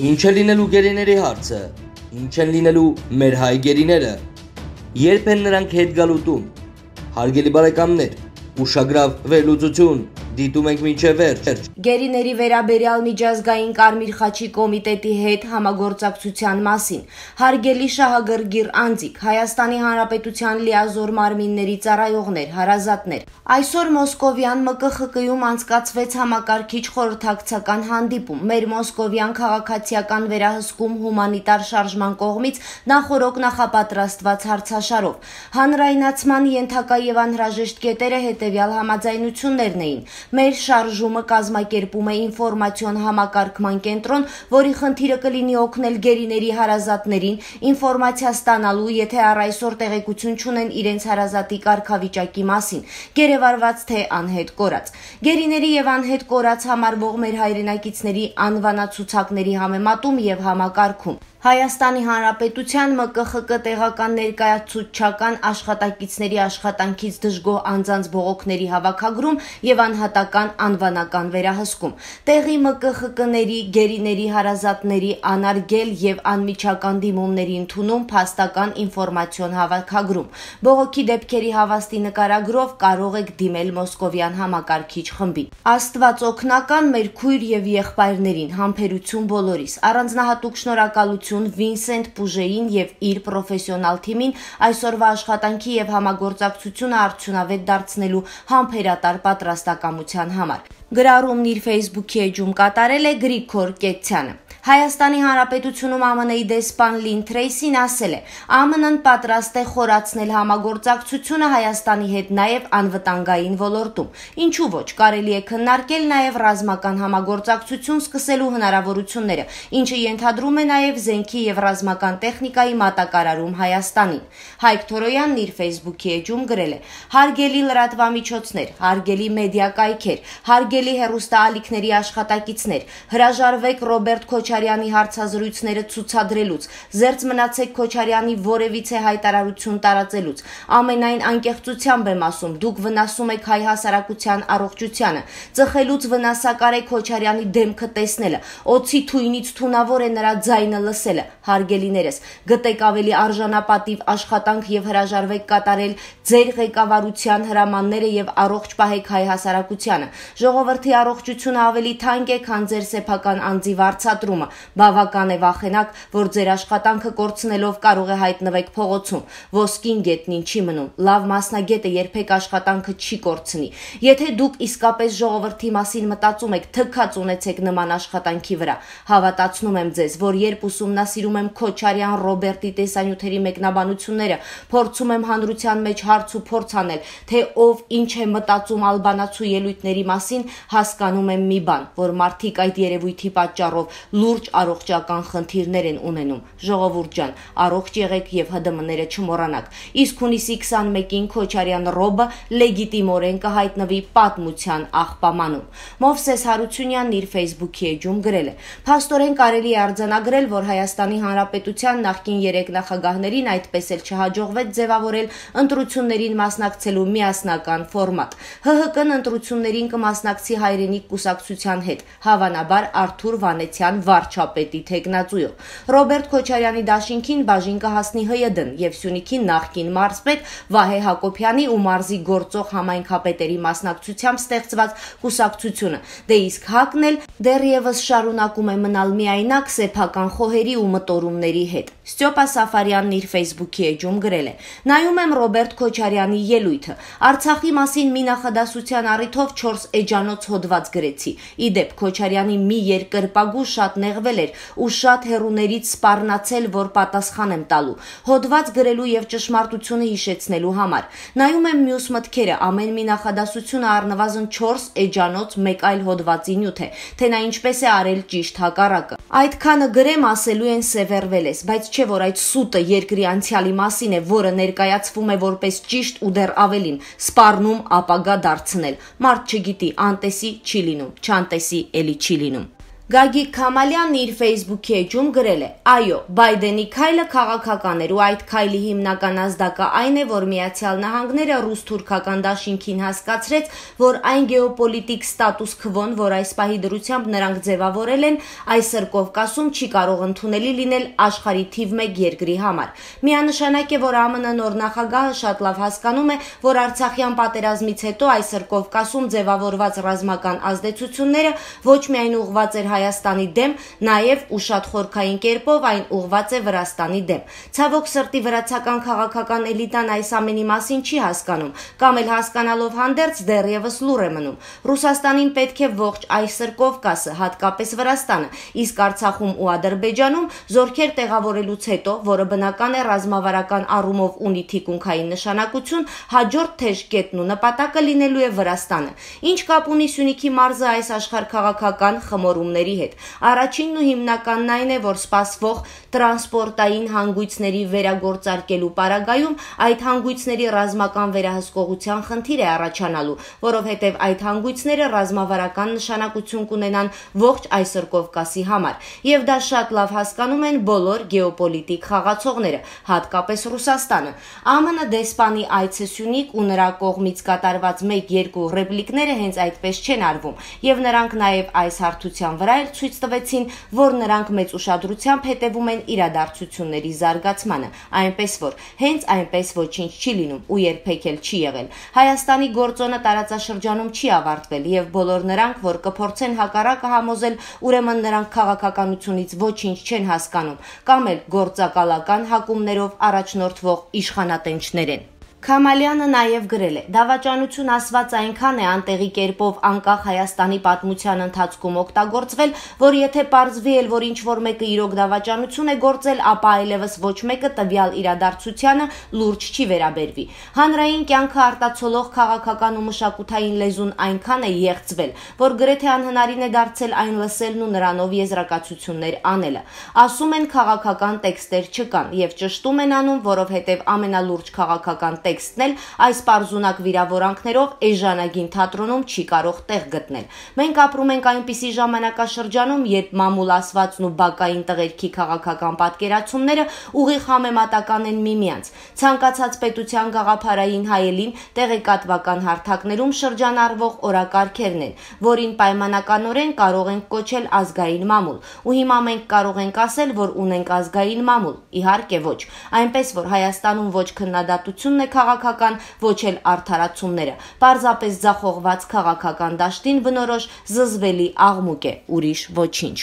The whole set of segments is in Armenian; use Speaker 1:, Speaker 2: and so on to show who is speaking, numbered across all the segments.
Speaker 1: Ինչ է լինելու գերիների հարցը, ինչ են լինելու մեր հայ գերիները, երբ են նրանք հետ գալու տուն, հարգելի բարեկամներ, ուշագրավ վերլուծություն, դիտում ենք մինչև վերջ։
Speaker 2: Գերիների վերաբերյալ միջազգային Կարմիր խաչի կոմիտետի հետ համագործակցության մասին, հարգելի շահագրգիռ անձիկ, Հայաստանի Հանրապետության լիազոր մարմինների ծառայողներ, հարազատներ, այսօր Մոսկովյան ՄԿԽԿ-ում անցկացվեց համակարգիչ խորհրդակցական հանդիպում, մեր մոսկովյան քաղաքացիական վերահսկում հումանիտար շարժման կողմից նախօրոք նախապատրաստված հարցաշարով։ Հանրայնացման ենթակա եւ անհրաժեշտ կետերը հետեւյալ համաձայնություններն էին։ Մեր շարժումը կազմակերպում է ինֆորմացիոն համակարգման կենտրոն, որի խնդիրը կլինի օգնել գերիների հարազատներին ինֆորմացիա ստանալու, եթե առ այսօր տեղեկություն չունեն իրենց հարազատի կարգավիճակի մասին, գերեվարված թե անհետ կորած։ Գերիների եւ անհետ կորած համարվող մեր հայրենակիցների անվանացուցակների համեմատում եւ համակարգում։ Հայաստանի Հանրապետության ՄԿԽԿ տեղական ներկայացուցչական աշխատակիցների աշխատանքից դժգոհ անձանց բողոքների հավաքագրում եւ անհատական անվանական վերահսկում։ Տեղի ՄԿԽԿ-ների, գերիների հարազատների անարգել եւ անմիջական դիմումների ընդունում փաստական ինֆորմացիոն հավաքագրում։ Բողոքի դեպքերի հավաստի նկարագրով կարող եք դիմել մոսկովյան համակարգիչ խմբին։ Աստված օգնական մեր քույր եւ եղբայրներին, համբերություն բոլորիս, առանձնահատուկ շնորհակալություն Վինսենտ Պուժեին եւ իր պրոֆեսիոնալ թիմին այսօրվա աշխատանքի եւ համագործակցությունը արդյունավետ դարձնելու համբերատար պատրաստակամության համար։ Գրառումն իր Facebook-ի էջում կատարել է Գրիգոր Կեցյանը։ Հայաստանի Հանրապետությունում ԱՄՆ-ի դեսպան Լին Թրեյսին ասել է. ԱՄՆ-ն պատրաստ է խորացնել համագործակցությունը Հայաստանի հետ նաև անվտանգային ոլորտում։ Ինչու ոչ, կարելի է քննարկել նաև ռազմական համագործակցություն սկսելու հնարավորությունները, ինչը ենթադրում է նաև զենքի եւ ռազմական տեխնիկայի մատակարարում Հայաստանին։ Հայկ Թորոյանն իր Facebook-ի էջում գրել է. Հարգելի լրատվամիջոցներ, հարգելի մեդիա կայքեր, հարգելի հեռուստաալիքների աշխատակիցներ, հրաժարվեք Ռոբերտ Քոչարյանի հարցազրույցները ցուցադրելուց, զերծ մնացեք Քոչարյանի որևիցե հայտարարություն տարածելուց։ Ամենայն անկեղծությամբ եմ ասում, դուք վնասում եք հայ հասարակության առողջությանը, ծխելուց վնասակար է Քոչարյանի դեմքը տեսնելը, օձի թույնից թունավոր է նրա ձայնը լսելը։ Հարգելիներս, գտեք ավելի արժանապատիվ աշխատանք եւ հրաժարվեք կատարել ձեր ղեկավարության հրամանները եւ առողջ պահեք հայ հասարակությանը։ Ժողովրդի առողջությունը ավելի թանկ է, քան ձեր սեփական անձի վարձատրումը։ Բավական է վախենակ, որ ձեր աշխատանքը կորցնելով կարող է հայտնվեք փողոցում։ Ոսկին գետնին չի մնում։ Լավ մասնագետը երբեք աշխատանքը չի կորցնի։ Եթե դուք իսկապես ժողովրդի մասին մտածում եք, թքած ունեցեք նման աշխատանքի վրա։ Հավատացնում եմ ձեզ, որ երբ ուսումնասիրում եմ Քոչարյան Ռոբերտի տեսանյութերի մեկնաբանությունները, փորձում եմ հանրության մեջ հարց ու փորձ անել, թե ով ինչ է մտածում ալբանացու ելույթների մասին, հասկանում եմ մի բան, որ մարդիկ այդ երևույթի պատճառով լուրջ առողջական խնդիրներ են ունենում։ Ժողովուրդ ջան, առողջ եղեք եւ ՀԴՄ-ները չմոռանաք։ Իսկ հունիսի 21-ին Քոչարյան Ռոբը լեգիտիմորեն կհայտնվի պատմության աղբամանում։ Մովսես Հարությունյանն իր Facebook-ի էջում գրել է. Փաստորեն կարելի է արձանագրել, որ Հայաստանի Հանրապետության նախկին 3 նախագահներին այդպես էլ չհաջողվեց ձևավորել ընտրություններին մասնակցելու միասնական ֆորմատ։ ՀՀԿ-ն ընտրություններին կմասնակցի հայրենիք կուսակցության հետ, հավանաբար Արթուր Վանեցյան վարչապետի թեկնածուով։ Ռոբերտ Քոչարյանի դաշինքին բաժին կհասնի ՀՅԴ-ն եւ Սյունիքի նախկին մարզպետ Վահե Հակոբյանի ու մարզի գործող համայնքապետերի մասնակցությամբ ստեղծված կուսակցությունը։ Դե իսկ ՀԱԿ-ն էլ դեռևս շարունակում է մնալ միայնակ սեփական խոհերի ու մտորումների հետ։ Ստյոպա Սաֆարյանն իր Facebook-ի էջում գրել է. Նայում եմ Ռոբերտ Քոչարյանի ելույթը։ Արցախի մասին մի նախադասության առիթով 4 էջանոց հոդված գրեցի։ Իդեպ Քոչարյանի մի երկրպագու շատ նեղվել էր ու շատ հեռուներից սպառնացել, որ պատասխան եմ տալու։ Հոդված գրելու եւ ճշմարտությունը հիշեցնելու համար։ Նայում եմ մյուս մտքերը, ամեն մի նախադասությունը առնվազն 4 էջանոց մեկ այլ հոդվածի նյութ է, թե նա ինչպես է արել ճիշտ հակառակը։ Այդքանը գրեմ ասելու են սևեռվել ես, բայց չէ որ այդ սուտը երկրի անցյալի մասին է, որը ներկայացվում է որպես ճիշտ ու դեռ ավելին, սպառնում ապագա դարձնել։ Մարդ չգիտի, անտեսի չի լինում, չանտեսի էլի չի լինում։ Գագիկ Քամալյանն իր Facebook-ի էջում գրել է. «Այո, Բայդենի քայլը քաղաքական էր ու այդ քայլի հիմնական ազդակը այն է, որ Միացյալ Նահանգները ռուս-թուրքական դաշինքին հասկացրեց, որ այն գեոպոլիտիկ ստատուս քվոն, որ այս պահի դրությամբ նրանք ձևավորել են, այսօր Կովկասում չի կարող ընդունելի լինել աշխարհի թիվ 1 երկրի համար։ Միանշանակ է, որ ԱՄՆ նոր նախագահը շատ լավ հասկանում է, որ Արցախյան պատերազմից հետո այսօր Կովկասում ձևավորված ռազմական ազդեցությունները ոչ միայն ուղղված էր Հայաստանի դեմ, նաև ու շատ խորքային կերպով այն ուղղված է Վրաստանի դեմ։ Ցավոք սրտի վրացական քաղաքական էլիտան այս ամենի մասին չի հասկանում, կամ էլ հասկանալով հանդերձ դեռևս լուռ է մնում։ Ռուսաստանին պետք է ողջ այսօր Կովկասը, հատկապես Վրաստանը, իսկ Արցախում ու Ադրբեջանում զորքեր տեղավորելուց հետո, որը բնական է ռազմավարական առումով ունի թիկունքային նշանակություն, հաջորդ թեժ կետն ու նպատակը լինելու է Վրաստանը։ Ինչ կապ ունի Սյունիքի մարզը այս աշխարհքաղաքական խմորումների հետ։ Առաջինն ու հիմնականն այն է, որ սպասվող տրանսպորտային հանգույցների վերագործարկելու պարագայում այդ հանգույցների ռազմական վերահսկողության խնդիր է առաջանալու, որովհետև այդ հանգույցները ռազմավարական նշանակություն կունենան ողջ այսօր Կովկասի համար, եւ դա շատ լավ հասկանում են բոլոր գեոպոլիտիկ խաղացողները, հատկապես Ռուսաստանը։ ԱՄՆ դեսպանի այցը Սյունիք ու նրա կողմից կատարված 1-2 ռեպլիկները հենց այդպես չեն արվում, եւ նրանք նաեւ այս հարթության վրա ցույց տվեցին, որ նրանք մեծ ուշադրությամբ հետևում են իրադարձությունների զարգացմանը, այնպես որ հենց այնպես ոչինչ չի լինում ու երբեք էլ չի եղել։ Հայաստանի գործոնը տարածաշրջանում չի ավարտվել եւ բոլոր նրանք, որ կփորձեն հակառակը համոզել, ուրեմն նրանք քաղաքականությունից ոչինչ չեն հասկանում կամ էլ գործակալական հակումներով առաջնորդվող իշխանատենչներ են։ Քամալյանը նաև գրել է. «Դավաճանություն ասված այնքան է անտեղի կերպով անկախ Հայաստանի պատմության ընթացքում օգտագործվել, որ եթե պարզվի էլ, որ ինչ-որ մեկը իրոք դավաճանություն է գործել, ապա այլևս ոչ մեկը տվյալ իրադարձությանը լուրջ չի վերաբերվի։ Հանրային կյանքը արտացոլող քաղաքական ու մշակութային լեզուն այնքան է եղծվել, որ գրեթե անհնարին է դարձել այն լսելն ու նրանով եզրակացություններ անելը։ Ասում են քաղաքական տեքստեր չկան եւ ճշտում են անում, որովհետեւ ամենալուրջ քաղաքական տեքստն էլ այս պարզունակ վիրավորանքներով էժանագին թատրոնում չի կարող տեղ գտնել։ Մենք ապրում ենք այնպիսի ժամանակաշրջանում, երբ մամուլ ասվածն ու բակային տղերքի քաղաքական պատկերացումները ուղիղ համեմատական են միմյանց։ Ցանկացած պետության գաղափարային հայելին տեղեկատվական հարթակներում շրջանառվող օրակարգերն են, որին պայմանականորեն կարող ենք կոչել ազգային մամուլ։ Ու հիմա մենք կարող ենք ասել, որ ունենք ազգային մամուլ։ Իհարկե ոչ։ Այնպես որ Հայաստանում ոչ քննադատությունն է քաղաքական, ոչ էլ արդարացումները։ Պարզապես ձախողված քաղաքական դաշտին բնորոշ զզվելի աղմուկ է, ուրիշ ոչինչ։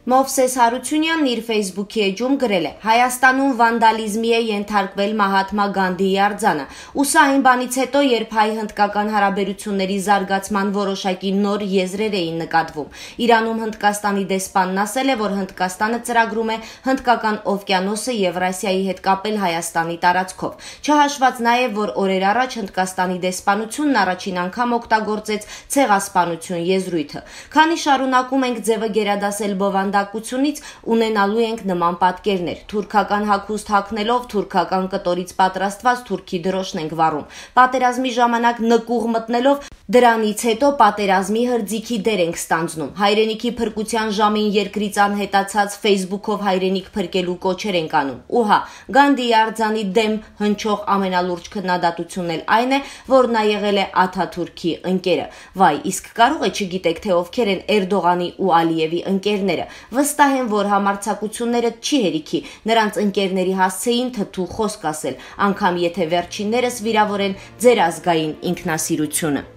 Speaker 2: Մովսես Հարությունյանն իր Facebook-ի էջում գրել է. «Հայաստանում վանդալիզմի է ենթարկվել Մահատմա Գանդիի արձանը, ու սա այն բանից հետո, երբ հայ-հնդկական հարաբերությունների զարգացման որոշակի նոր եզրեր էին նկատվում։ Իրանում Հնդկաստանի դեսպանն ասել է, որ Հնդկաստանը ծրագրում է Հնդկական օվկիանոսը Եվրասիայի հետ կապել Հայաստանի տարածքով։ Չհաշված նաև, որ օրեր առաջ Հնդկաստանի դեսպանությունն առաջին անգամ օգտագործեց ցեղասպանություն եզրույթը։ Քանի շարունակում ենք ձևը գերադասել բովանդակությունից, ունենալու ենք նման պատկերներ։ Թուրքական հագուստ հագնելով թուրքական կտորից պատրաստված թուրքի դրոշն ենք վառում։ Պատերազմի ժամանակ նկուղ մտնելով դրանից հետո պատերազմի հրձիքի դեր ենք ստանձնում։ Հայրենիքի փրկության ժամին երկրից անհետացած Facebook-ով հայրենիք փրկելու կոչեր ենք անում։ Ու հա, Գանդիի արձանի դեմ հնչող ամենալուրջ քննադատությունն էլ այն է, որ նա եղել է Աթաթուրքի ընկերը։ Վայ, իսկ կարող է չգիտեք, թե ովքեր են Էրդողանի ու Ալիևի ընկերները։ Վստահ եմ, որ համարձակությունները չի հերիքի նրանց ընկերների հասցեին թթու խոսք ասել, անգամ եթե վերջիններս վիրավորեն ձեր ազգային ինքնասիրությունը»։